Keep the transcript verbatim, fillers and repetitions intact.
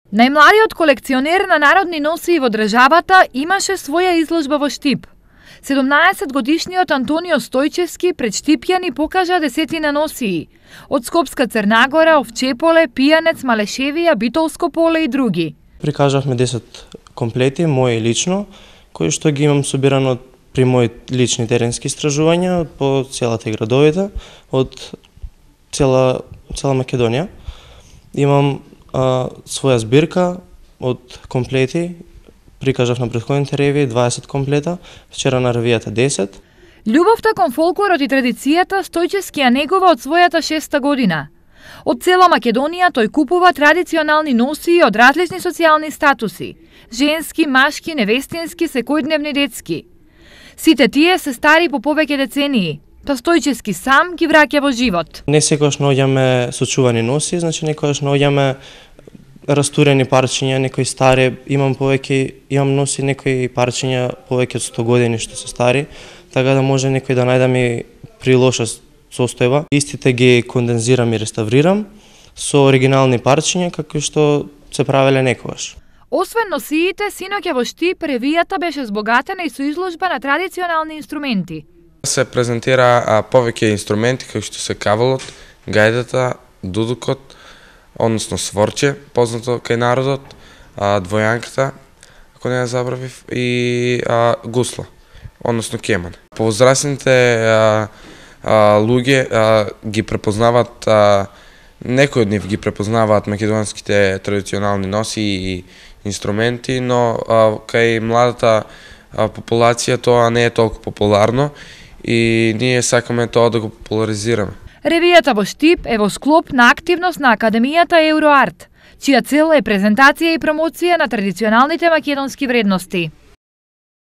Најмладиот колекционер на народни носии во државата имаше своја изложба во Штип. седумнаесет годишниот Антонио Стојчевски пред Штипјани покажа десетина носии од Скопска Црнагора, Овчеполе, Пијанец, Малешевија, Битолско поле и други. Прикажавме десет комплети, мои лично, кои што ги имам собирано при мои лични теренски истражувања по целата градовите, од цела, цела Македонија. Имам а, своја збирка од комплети, прикажав на претходните ревии дваесет комплета, вчера на ревијата десет. Љубовта кон фолклорот и традицијата Стојчевски ја негува од својата шеста година. Од цела Македонија тој купува традиционални носии од различни социјални статуси: женски, машки, невестински, секојдневни, детски. Сите тие се стари по повеќе децении, па Стојчевски сам ги враќа во живот. Не секогаш наоѓаме сочувани носи, значи некогаш наоѓаме растурени парчиња, некои стари, имам повеќе, имам носи некои парчиња повеќе од сто години што се стари, така да може некој да најдам и при лоша состојба. Истите ги кондензирам и реставрирам со оригинални парчиња како што се правеле некогаш. Освен носиите, синоќа во Штип ревијата беше збогатена и со изложба на традиционални инструменти. Се презентира а, повеќе инструменти како што се кавалот, гајдата, дудукот, односно сворче, познато кај народот, а, двојанката, ако не ја забравив, и а, гусла, односно кеман. Повозрасните а, а, луѓе а, ги препознаваат, а, некои од нив ги препознаваат македонските традиционални носи и инструменти, но а, кај младата а, популација тоа не е толку популарно и ние сакаме тоа да го популаризираме. Ревијата во Штип е во склоп на активност на Академијата Евроарт, чија цел е презентација и промоција на традиционалните македонски вредности.